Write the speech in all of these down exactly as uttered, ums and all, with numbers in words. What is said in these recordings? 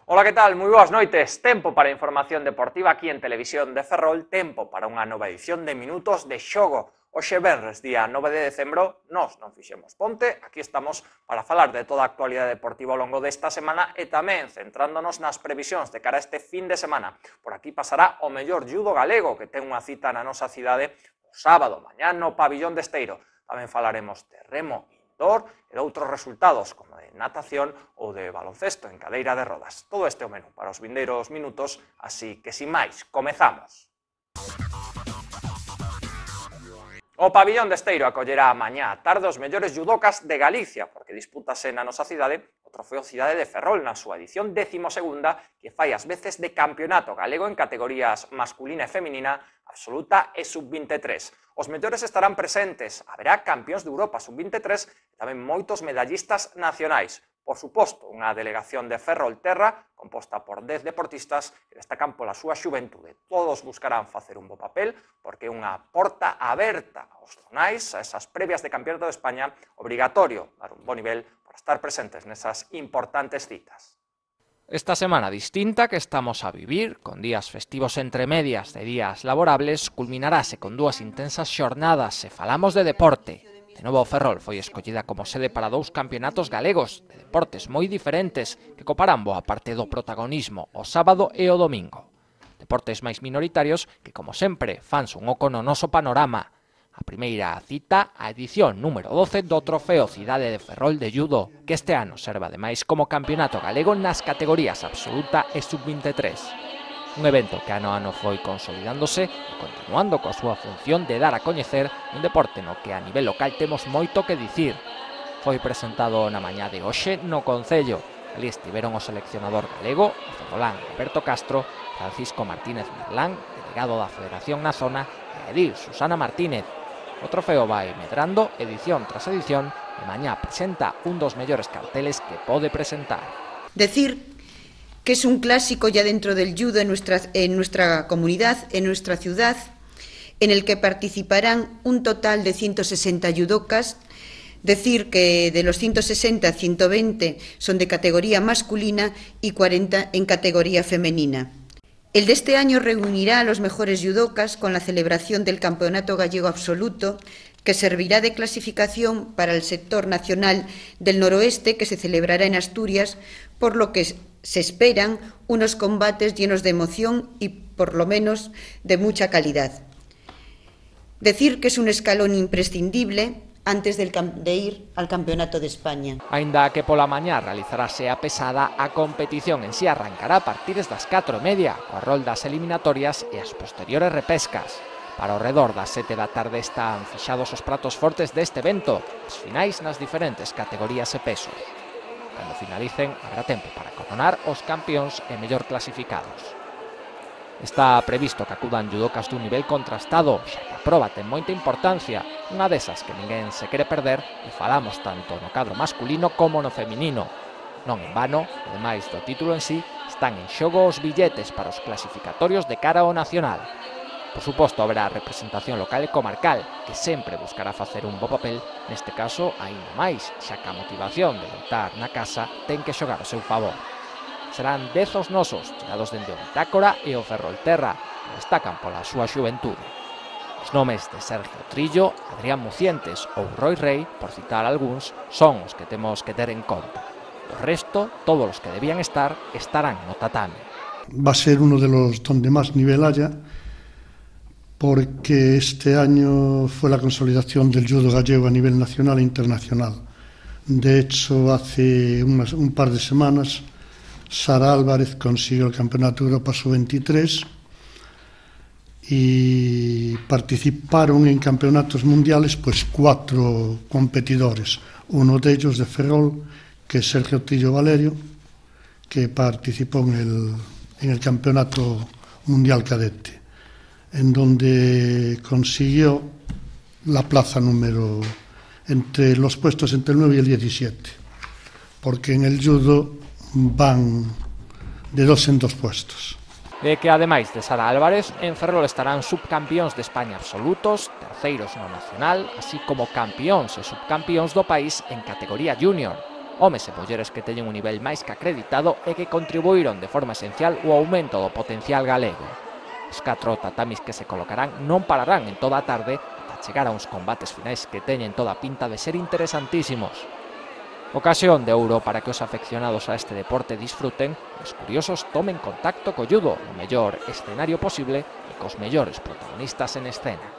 Ola, que tal? Moi boas noites. Tempo para a información deportiva aquí en Televisión de Ferrol, tempo para unha nova edición de Minutos de Xogo. Hoxe venres, día nove de decembro, nós non fixemos ponte, aquí estamos para falar de toda a actualidade deportiva ao longo desta semana e tamén centrándonos nas previsións de cara a este fin de semana. Por aquí pasará o mellor judo galego, que ten unha cita na nosa cidade o sábado, mañá no Pabillón de Esteiro. Tamén falaremos de remo indoor e de outros resultados, como de natación ou de baloncesto en cadeira de rodas. Todo este é o menú para os vindeiros minutos, así que, sin máis, comezamos. O Pabillón de Esteiro acollerá mañá a tarde os mellores judocas de Galicia, porque dispútase na nosa cidade o Trofeo Cidade de Ferrol na súa edición décimo segunda, que fai as veces de campeonato galego en categorías masculina e feminina, absoluta e sub vinte e tres. Os mellores estarán presentes, haberá campións de Europa sub vinte e tres e tamén moitos medallistas nacionais. Por suposto, unha delegación de Ferrolterra composta por dez deportistas que destacan pola súa xuventude. Todos buscarán facer un bo papel porque é unha porta aberta aos zonais, a esas previas de Campeonato de España, obrigatorio dar un bo nivel para estar presentes nesas importantes citas. Esta semana distinta que estamos a vivir, con días festivos entre medias de días laborables, culminarase con dúas intensas xornadas se falamos de deporte. De novo, Ferrol foi escollida como sede para dous campeonatos galegos de deportes moi diferentes que coparán boa parte do protagonismo o sábado e o domingo. Deportes máis minoritarios que, como sempre, fans un oco no noso panorama. A primeira cita, a edición número doce do Trofeo Cidade de Ferrol de Judo, que este ano serve ademais como campeonato galego nas categorías absoluta e sub vinte e tres. Un evento que ano a ano foi consolidándose e continuando coa súa función de dar a coñecer un deporte no que a nivel local temos moito que dicir. Foi presentado na mañá de hoxe no Concello. Ali estiveron o seleccionador galego, o ferrolán Alberto Castro, Francisco Martínez Merlán, delegado da Federación na zona, e Edil Susana Martínez. O trofeo vai medrando edición tras edición e mañá presenta un dos mellores carteles que pode presentar. Decir que es un clásico ya dentro del judo en nuestra, en nuestra comunidad, en nuestra ciudad, en el que participarán un total de ciento sesenta judocas. Decir que de los ciento sesenta, ciento veinte son de categoría masculina y cuarenta en categoría femenina. El de este año reunirá a los mejores judocas con la celebración del Campeonato Gallego Absoluto, que servirá de clasificación para el sector nacional del noroeste, que se celebrará en Asturias, por lo que se esperan unos combates llenos de emoción y, por lo menos, de mucha calidad. Decir que es un escalón imprescindible antes del de ir al Campeonato de España. Aínda que pola mañá realizarase a pesada, a competición en si arrancará a partir das catro e media, coa rol das eliminatorias e as posteriores repescas. Para o redor das sete da tarde están fixados os pratos fortes deste evento, as finais nas diferentes categorías e pesos. Cando finalicen, haberá tempo para coronar os campións e mellor clasificados. Está previsto que acudan judocas dun nivel contrastado, xa que a proba ten moita importancia, unha desas que ninguén se quere perder, e falamos tanto no cadro masculino como no feminino. Non en vano, ademais do título en sí, están en xogo os billetes para os clasificatorios de cara ao nacional. Por suposto, haberá representación local e comarcal, que sempre buscará facer un bo papel, neste caso, aínda máis, xa que a motivación de loitar na casa ten que xogar ao seu favor. Serán dez os nosos, chegados dende o Bitácora e o Ferrolterra, que destacan pola súa xuventude. Os nomes de Sergio Trillo, Adrián Mucientes ou Roy Rey, por citar algúns, son os que temos que ter en conta. O resto, todos os que debían estar, estarán no tatame. Va a ser uno de los donde más nivel haya, porque este año fue la consolidación del judo gallego a nivel nacional e internacional. De hecho, hace unas, un par de semanas, Sara Álvarez consiguió el Campeonato de Europa sub veintitrés y participaron en campeonatos mundiales pues cuatro competidores, uno de ellos de Ferrol, que es Sergio Trillo Valerio, que participó en el, en el Campeonato Mundial Cadete. en donde consiguió la plaza número entre los puestos entre el nueve y el diecisiete, porque en el judo van de dos en dos puestos. De que, ademais de Sara Álvarez, en Ferrol estarán subcampións de España absolutos, terceiros no nacional, así como campións e subcampións do país en categoría junior. Homes e mulleres que teñen un nivel máis que acreditado e que contribuíron de forma esencial ao aumento do potencial galego. Os catro tatamis que se colocarán non pararán en toda a tarde ata chegar a uns combates finais que teñen toda a pinta de ser interesantísimos. Ocasión de ouro para que os afeccionados a este deporte disfruten e os curiosos tomen contacto co judo no mellor escenario posible e cos mellores protagonistas en escena.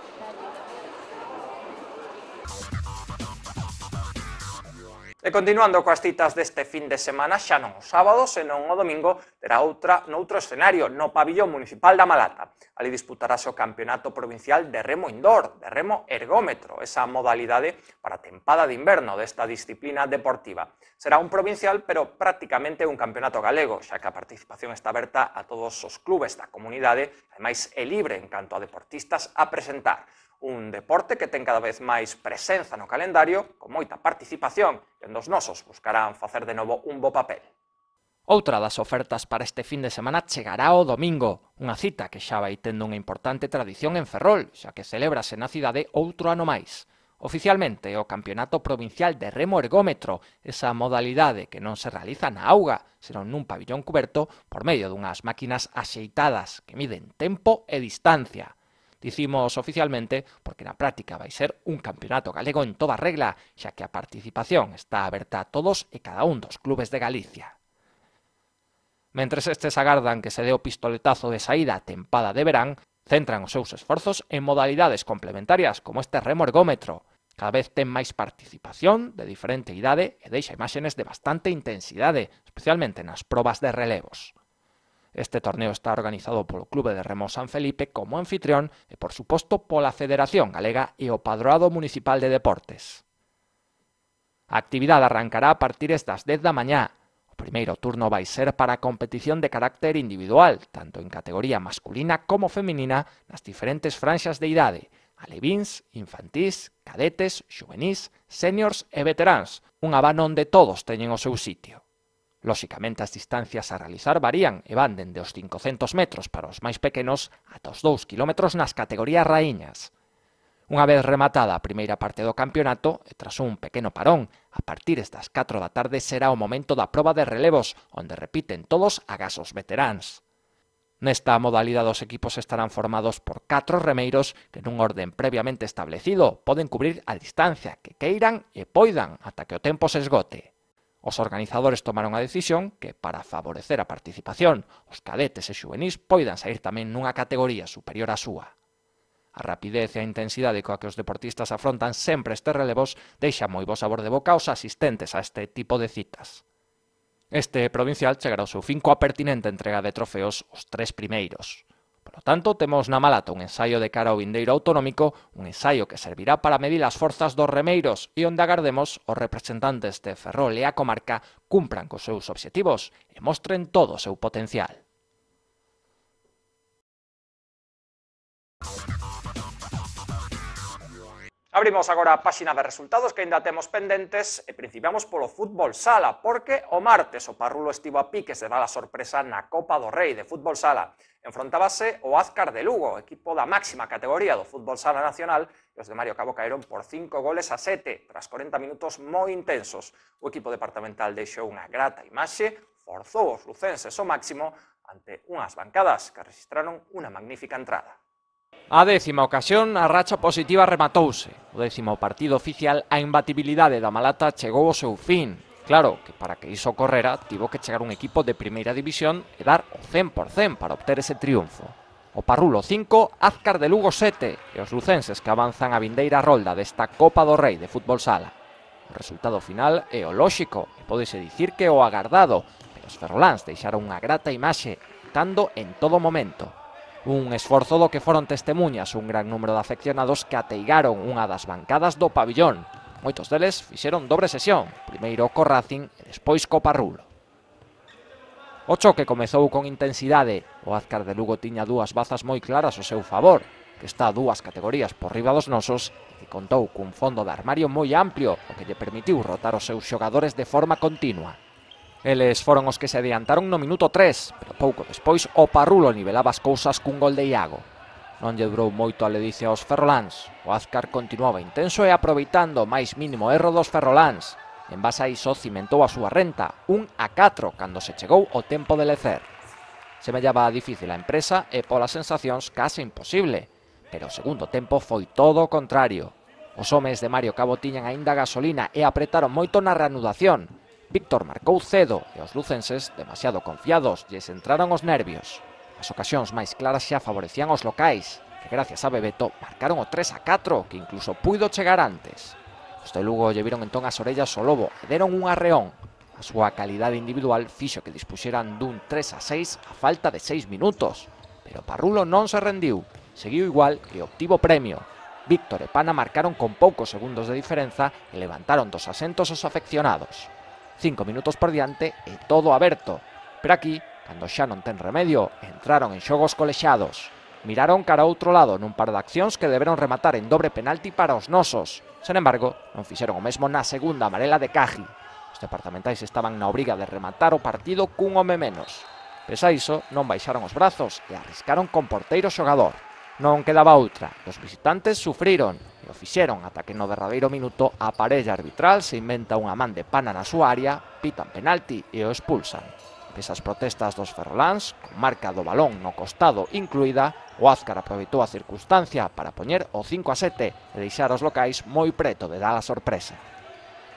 E continuando coas citas deste fin de semana, xa non o sábado, senón o domingo, terá outra noutro escenario, no pabillón municipal da Malata. Ali disputarase o campeonato provincial de remo indoor, de remo ergómetro, esa modalidade para a tempada de inverno desta disciplina deportiva. Será un provincial, pero prácticamente un campeonato galego, xa que a participación está aberta a todos os clubes da comunidade, ademais é libre en canto a deportistas a presentar. Un deporte que ten cada vez máis presenza no calendario, con moita participación, e onde os nosos buscarán facer de novo un bo papel. Outra das ofertas para este fin de semana chegará o domingo, unha cita que xa vai tendo unha importante tradición en Ferrol, xa que celébrase na cidade outro ano máis. Oficialmente, o Campeonato Provincial de Remo Ergómetro, esa modalidade que non se realiza na auga, senón nun pabillón cuberto por medio dunhas máquinas axeitadas que miden tempo e distancia. Dicimos oficialmente porque na práctica vai ser un campeonato galego en toda regla, xa que a participación está aberta a todos e cada un dos clubes de Galicia. Mentres estes agardan que se dé o pistoletazo de saída a tempada de verán, centran os seus esforzos en modalidades complementarias como este remo ergómetro. Cada vez ten máis participación de diferente idade e deixa imaxes de bastante intensidade, especialmente nas probas de relevos. Este torneo está organizado polo Clube de Remo San Felipe como anfitrión e, por suposto, pola Federación Galega e o Padroado Municipal de Deportes. A actividade arrancará a partir das dez da mañá. O primeiro turno vai ser para a competición de carácter individual, tanto en categoría masculina como feminina, nas diferentes franxas de idade, alevins, infantís, cadetes, xuvenís, seniors e veteráns, un abano onde todos teñen o seu sitio. Lóxicamente, as distancias a realizar varían e van dende os cincocentos metros para os máis pequenos ata os dous kilómetros nas categorías raíñas. Unha vez rematada a primeira parte do campeonato, e tras un pequeno parón, a partir das catro da tarde será o momento da proba de relevos, onde repiten todos agás os veteráns. Nesta modalidade os equipos estarán formados por catro remeiros que nun orden previamente establecido poden cubrir a distancia que queiran e poidan ata que o tempo se esgote. Os organizadores tomaron a decisión que, para favorecer a participación, os cadetes e xuvenís poidan sair tamén nunha categoría superior á súa. A rapidez e a intensidade coa que os deportistas afrontan sempre estes relevos deixa moi bo sabor de boca aos asistentes a este tipo de citas. Este provincial chegará ao seu fin coa pertinente entrega de trofeos os tres primeiros. Por lo tanto, temos na Malata un ensaio de cara ao vindeiro autonómico, un ensaio que servirá para medir as forzas dos remeiros e onde agardemos os representantes de Ferrol e a comarca cumpran cos seus obxectivos e mostren todo o seu potencial. Abrimos agora a páxina de resultados que aínda temos pendentes e principiamos polo fútbol sala, porque o martes o Parrulo estivo a piques de dar a sorpresa na Copa do Rei de fútbol sala. Enfrontábase o Azcar de Lugo, equipo da máxima categoría do fútbol sala nacional, e os de Mario Cabo caeron por cinco goles a sete, tras corenta minutos moi intensos. O equipo departamental deixou unha grata imaxe, forzou os lucenses ao máximo ante unhas bancadas que registraron unha magnífica entrada. A décima ocasión, a racha positiva rematouse. O décimo partido oficial, a imbatibilidade da Malata chegou ao seu fin. Claro que para que iso ocorrera, tivo que chegar un equipo de primeira división e dar o cen por cen para obter ese triunfo. O Parrulo cinco, Azcar de Lugo sete, e os lucenses que avanzan a vindeira rolda desta Copa do Rei de fútbol sala. O resultado final é o lóxico, e pódese dicir que o agardado, pero os ferroláns deixaron unha grata imaxe, cando en todo momento. Un esforzo do que foron testemunhas un gran número de afeccionados que ateigaron unha das bancadas do pabillón. Moitos deles fixeron dobre sesión, primeiro co Racing e despois co Parrulo. O choque comezou con intensidade, o Azcar de Lugo tiña dúas bazas moi claras ao seu favor, que está dúas categorías por riba dos nosos e que contou cun fondo de armario moi amplio, o que lle permitiu rotar os seus xogadores de forma continua. Eles foron os que se adiantaron no minuto tres, pero pouco despois o Parrulo nivelaba as cousas cun gol de Iago. Non lle durou moito a ledicia aos ferroláns, o Azcar continuaba intenso e aproveitando o máis mínimo erro dos ferroláns. En base a iso cimentou a súa renta, un a catro, cando se chegou o tempo de lecer. Semellaba difícil a empresa e polas sensacións case imposible, pero o segundo tempo foi todo o contrario. Os homes de Mario Cabo tiñan aínda gasolina e apretaron moito na reanudación. Víctor marcou cedo e os lucenses, demasiado confiados, lles entraron os nervios. As ocasións máis claras xa favorecían os locais, que gracias a Bebeto marcaron o tres a catro, que incluso puido chegar antes. Os de Lugo lle viron entón as orellas ao lobo e deron un arreón. A súa calidade individual fixo que dispuxeran dun tres a seis a falta de seis minutos. Pero Parrulo non se rendiu, seguiu igual e obtivo premio. Víctor e Pana marcaron con poucos segundos de diferenza e levantaron dos asentos os afeccionados. Cinco minutos por diante e todo aberto. Pero aquí, cando xa non ten remedio, entraron en xogos colexados. Miraron cara a outro lado nun par de accións que deberon rematar en dobre penalti para os nosos. Sen embargo, non fixeron o mesmo na segunda amarela de Caji. Os departamentais estaban na obriga de rematar o partido cun home menos. Pese a iso, non baixaron os brazos e arriscaron con porteiro xogador. Non quedaba outra, os visitantes sufriron e o fixeron ata que no derradeiro minuto a parella arbitral se inventa unha man de Pana na súa área, pitan penalti e o expulsan. Pese as protestas dos ferroláns, con marca do balón no costado incluída, o Azcar aproveitou a circunstancia para poñer o cinco a sete e deixar os locais moi preto de dar a sorpresa.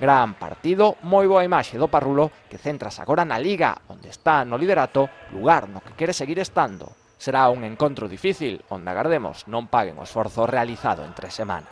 Gran partido, moi boa imaxe do Parrulo, que centras agora na Liga, onde está no liderato, lugar no que quere seguir estando. Será un encontro difícil, onde agardemos non paguen o esforzo realizado entre semana.